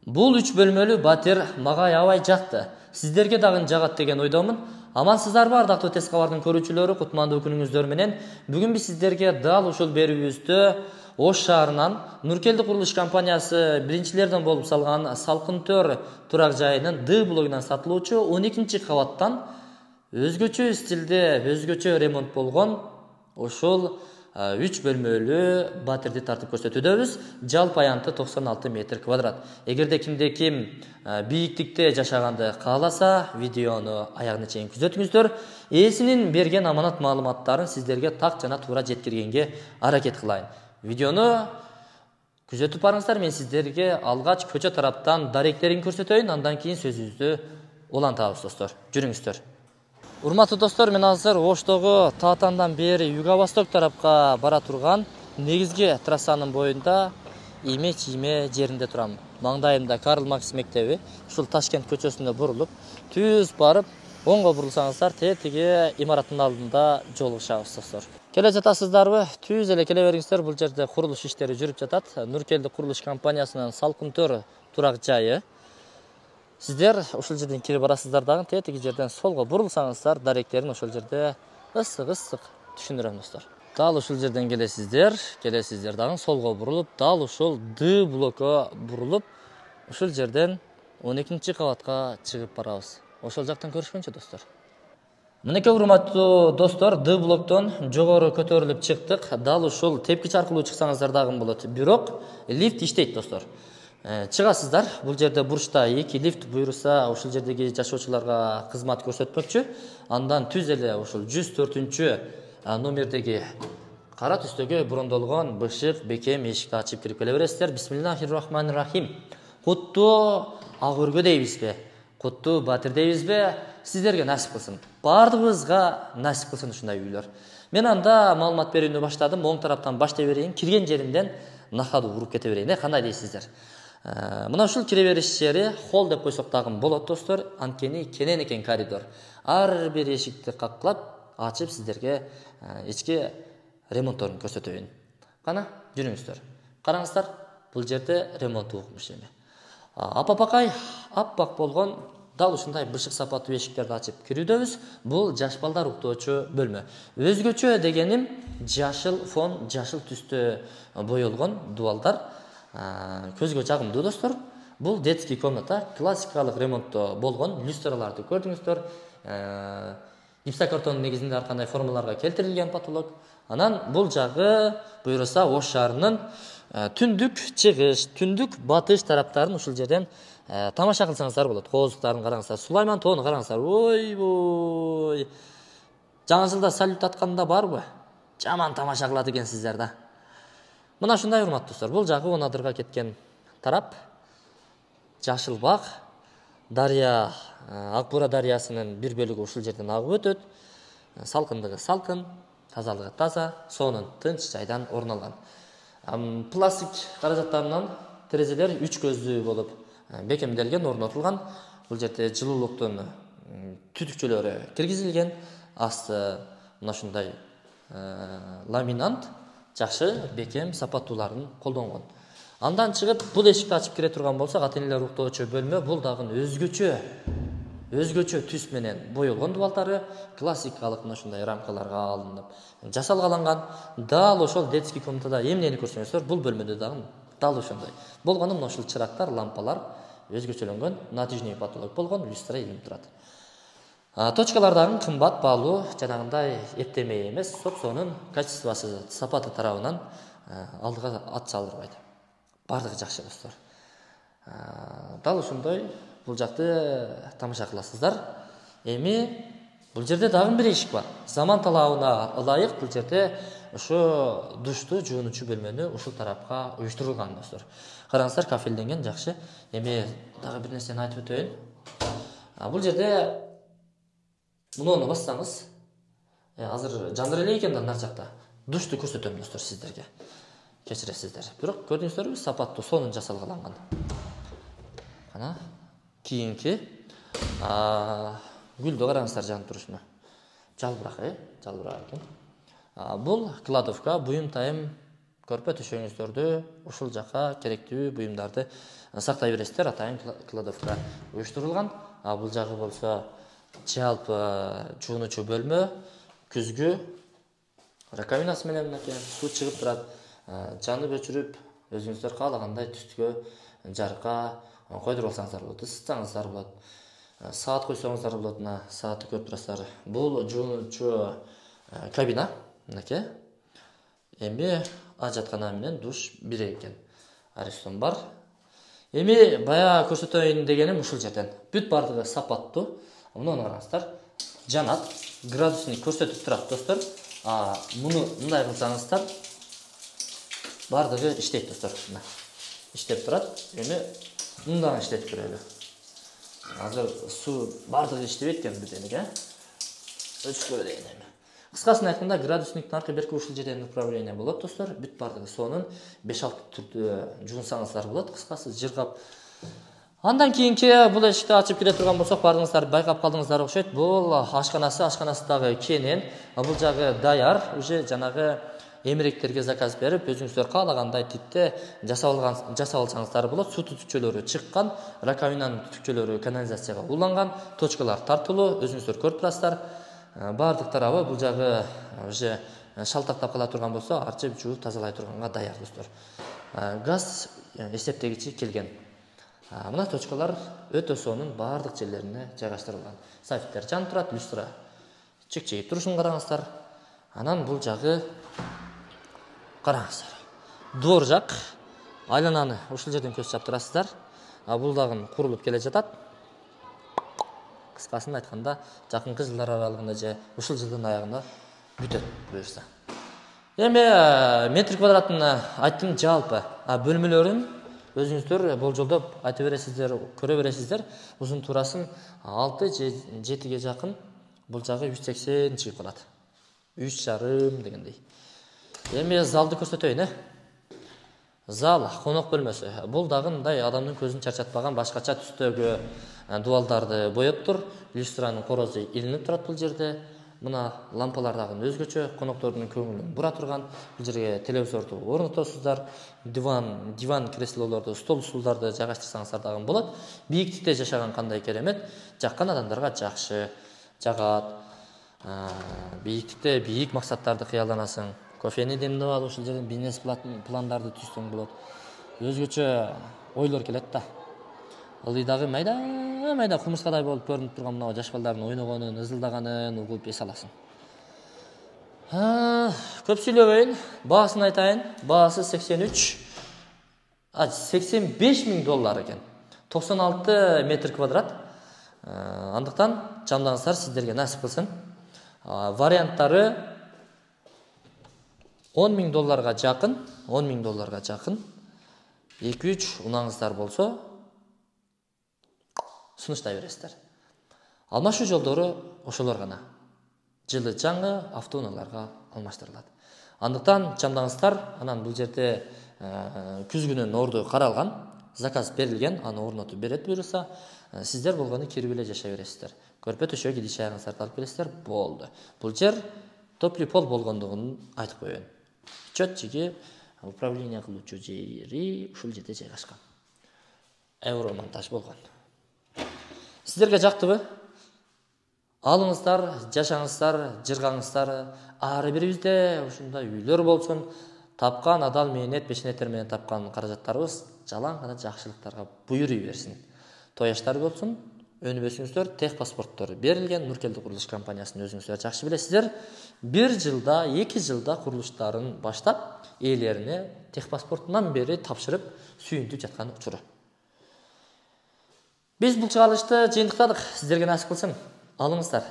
Бул 3 бөлмөлүү батир мага аябай жакты. Сиздерге дагы жагат деген ойдомун. Амансыздарбы ардактуу Тез кабардын көрүүчүлөрү, кутмандуу күнүңүздөр менен. Бүгүн биз сиздерге дал ушул берүүбүздө Ош шаарынан Нуркелди курулуш компаниясы биринчилерден болуп салган Салкын Төр турак жайынын Д блогунан сатылуучу 12 кабаттан өзгөчө стилде, өзгөчө ремонт болгон ошол 3 бөлмөлүү батирди тартып көрсөтүүдөбүз. Жалпы аянты 96 метр квадрат. Эгерде кимде ким бийиктикте жашаганды кааласа, видеону аягына чейин күзөтүңүздөр. Ээсинин берген аманат маалыматтарын сиздерге так жана туура жеткиргенге аракет кылайын. Видеону күзөтүп барыңыздар. Мен сиздерге алгач көчө тараптан даректерин көрсөтөйүн, андан кийин сөзүбүздү улантабыз достор. Жүрүңүздөр. Урматтуу достор, мен азыр Оштогу Таатандан бери юго-восток тарапка бара турган негизги трассанын боюнда ийме-чийме жеринде турам. Маңдайымда Карл Маркс мектеби, ушул Ташкент көчөсүнө бурулуп, түз барып, оңго бурулсаңыздар, тетиги имараттын алдында жолугушабыз достор. Келе жатасыздарбы? Түз эле келе бериңиздер. Бул жерде курулуш иштери жүрүп жатат. Нуркелди курулуш компаниясынын Салкын Төр турак жайы. Сиздер ушул жерден кирип барасыздар дагы, тетиги жерден солго бурулсаңыздар, даректерин ошол жерде ысык түшүндүрөм достор. Дал ушул жерден келесиздер дагы солго бурулуп, дал ушул Д блокко бурулуп, ушул жерден 12 кабатка чыгып барабыз. Ошол жактан көрүшкөнчө достор. Мынеке урматтуу достор, Д блоктон жогору көтөрүлүп чыктык. Дал ушул тепкич аркылуу чыксаңыздар дагы болот. Бирок лифт иштейт достор. Чыгасыздар. Бул жерде бурчта 2 лифт буйруса, ушул жердеги жашоочуларга кызмат көрсөтмөкчү. Андан түз эле ушул 104 номердеги кара түстөгө брондолгон бышык бекем эшикти ачып кирип келе бересиздер. Бисмиллахир-рахманир-рахим. Куттуу ак өргө дейбизби? Куттуу батир дейбизби? Сиздерге насип кылсын. Бардыгыбызга насип кылсын ушундай үйлөр. Мен анда маалымат берүүнү баштадым. Оң тараптан баштай берейин. Кирген жеримден нахаду уруп кете берейин. Кандай дейсиздер? Мына ушул кире бериш жери холл деп койсок дагы болот достор. Анткени кенен экен коридор. Ар бир эшикти каклап, ачып сиздерге ички ремонтторун көрсөтөйүн. Кана, жүрүңүздөр. Караңыздар, бул жерде ремонт укмуш эми. Апапакай аппак болгон дал ушундай бышык сапаттуу эшиктерди ачып кирүүдөбүз. Бул жаш балдар уктоочу бөлмө. Өзгөчө дегеним жашыл фон, жашыл түстө боелгон дубалдар. Көзгө жагымдуу достор. Бул детский комната, классикалык ремонтто болгон люстраларды көрдүңүздөр. Гипсокартондун негизинде ар кандай формаларга келтирилген потолок. Анан бул жагы буйруса Ош шаарынын түндүк чыгыш, түндүк батыш тараптарын ушул жерден тамаша кылсаңыздар болот. Кооздуктарын караңыздар, Сулайман тоону караңыздар. Ой. Жаңы жылда салют атканда барбы? Жаман тамаша кылат экенсиздер да. Мына ушундай урматтуу достор. Бул жагы Онадырга кеткен тарап. Жашыл бак, дарыя, Акбура дарыясынын бир бөлүгү ушул жерден агып өтөт. Салкындыгы салкын, тазалыгы таза, сонун тынч жайдан орун алган. Пластик каражаттарынан терезелер 3 көздүү болуп бекемделген, орнотулган. Бул жерде жылуулуктун түтүкчөлөрү киргизилген. Асты мына ушундай ламинант жакшы бекем сапаттууларын колдонгон. Андан чыгып бул эшикти ачып кире турган болсок, ата-энелер уктоочу бөлмө. Бул дагы өзгөчө түс менен боелгон дубалдары классикалык мына ушундай рамкаларга алынып жасалгаланган. Дал ошол детский комнатада эмнени көрсөңүздөр, бул бөлмөдө дагы дал ошондой. Болгону мына ушул чырактар, лампалар өзгөчөлөнгөн, натижный потолок болгон, люстра илинип турат. Точкалар дагы кымбат, баалуу, жанагындай эптемей эмес, сопсонун качествосы, сапаты тарабынан алдыга ат салдырбайт. Бардыгы жакшы достор. Дал ушундай бул жакты тамаша кыласыздар. Эми бул жерде дагы бир эшик бар. Заман талабына ылайык бул жерде ошо душту, жуунучу бөлмөнү ушул тарапка уюштурулган достор. Караңыздар, кафелденген, жакшы. Эми дагы бир нерсени айтып өтөйүн. Бул жерде муну бассаңыз, азыр жандыр эле экен да нар жакта. Душту көрсөтөм достор сиздерге. Кечиресиздер. Бирок көрдүңүздөрбү, сапаттуу, сонун жасалгаланган. Кана, кийинки гүлдү караңыздар жанып турушуна. Жалбырак, жалбырак экен. Бул кладовка, буюм тайым көрпө төшөгүңүздөрдү ушул жака керектүү буюмдарды сактай бересиздер. Атайын кладовка уюштурулган. Бул жагы болсо жалпы жуунуучу бөлмө, күзгү раковинасы менен мынакей суу чыгып турат. Жанып өчүрүп өзүңүздөр каалагандай түстүгө жарыкка койдуруп алсаңыздар болот, ысытсаңыздар болот. Саат койсоңуздар болот, мына саатты көрүп турасыздар. Бул жуунуучу кабина мынакей. Эми ажаткана менен душ бир экен. Аристон бар. Эми бая көрсөтөйүн дегеним ушул жерден. Бүт бардыгы сапаттуу. Муну караңыздар. Жанат, градусник көрсөтүп турат достор. Муну мындай кылсаңыздар бардыгы иштейт достор. Мына иштеп турат. Эми мындан иштетип көрөлү. Азыр суу бардыгы иштебейт экен бүтөнүгө. Өчүп көрөлүн эми. Кыскасын айтканда градусниктин аркы берки ушул жерден управление болот достор. Бүт бардыгы сонун 5-6 түрдө жуунсаңыздар болот. Кыскасы жыргап. Андан кийинки бул эшикти ачып кире турган болсок, бардыгыңыздар байкап калдыңыздар окшойт. Бул ашканасы дагы кенен. Бул жагы даяр, уже жанагы эмеректерге заказ берип, өзүңүздөр каалагандай типте жасап алсаңыздар болот. Суу түтүкчөлөрү чыккан, раковинанын түтүкчөлөрү канализацияга уланган, точкалар тартылуу, өзүңүздөр көрүп турасыздар. Бардык тарабы бул жагы уже шалтактап кала турган болсо, арчып жууп тазалай турганга даяр достор. Газ эсептегичи келген. Мына точкалар өтө сонун бардык жерлерине жайгаштырылган. Сафиттер жанып турат, люстра чекчегип турушун караңыздар. Анан бул жагы караңыздар. Доор жак, айлананы ушул жерден көз чаптырасыздар. Бул дагы курулуп келе жатат. Кыскасын айтканда, жакынкы жылдар аралыгында же ушул жылдын аягында бүтөт буюрса. Эми метр квадратын айттым жалпы. Бөлмөлөрүн өзүңүздөр болжолдоп айта бересиздер, көрө бересиздер. Узун турасын 6 же 7ге жакын. Бул жагы 180 чыгып калат. 3,5 дегендей. Эми залды көрсөтөйүн. Зал, конок бөлмөсү. Бул дагы мындай адамдын көзүн чарчатпаган башкача түстөгү дубалдарды боептур. Люстранын корозу илинип турат бул жерде. Мына лампалар дагы өзгөчө, коноктордун көңүлүн бура турган. Бул жерге телевизорду орнотосуздар. Диван креслолорду, стол стулдарды жайгаштырсаңыздар дагы болот. Бийиктикте жашаган кандай керемет, жаккан адамдарга жакшы жагат. Бийиктикте бийик максаттарды кыялданасың. Кофени демдеп алып ушул жерден бизнес пландарды түзсөң болот. Өзгөчө ойлор келет да. Ылдыйдагы майда кумурскадай болуп көрүнүп турган мына жаш балдардын ойногонун, ызылдаганын угуп эс аласың. Көп сүйлөбөйүн, баасын айтайын. Баасы 85 миң доллар экен. 96 метр квадрат. Андыктан жамдаңыздар, сиздерге насип кылсын. Варианттары 10 миң долларга жакын, 2-3 унаңыздар болсо сунуштай бересиздер. Алмашуу жолдору ошолор гана. Жылы жаңы автоунааларга алмаштырылат. Андыктан жамдаңыздар, анан бул жерде күзгүнүн орду каралган, заказ берилген, аны орнотуп берет буюрса, сиздер болгону кирип эле жашай бересиздер. Көрпө төшөк идиш аяңыздарды алып келесиздер, болду. Бул жер топли пол болгондугун айтып коеюн. Чөтчүгү управление кылуучу жери ушул жерде жайгашкан. Евромонтаж болгон. Сиздерге жактыбы? Алыңыздар, жашаңыздар, жыргаңыздар. Ары бирибизде ушундай үйлөр болсун. Тапкан адал мээнет, пешенеттер менен тапкан каражаттарыбыз жалаң гана жакшылыктарга буйруй берсин. Тояштар болсун. Өнүбөсүңүздөр, тех паспорттор берилген. Нуркелди курулуш компаниясын өзүңүздөр жакшы билесиздер. 1 жылда, 2 жылда курулуштарын баштап, ээлерине тех паспортунан бери тапшырып сүйүнтүп жаткан учуру. Биз бул чыгарылышты жыйынтыктадык. Сиздерге насип кылсын. Алыңыздар.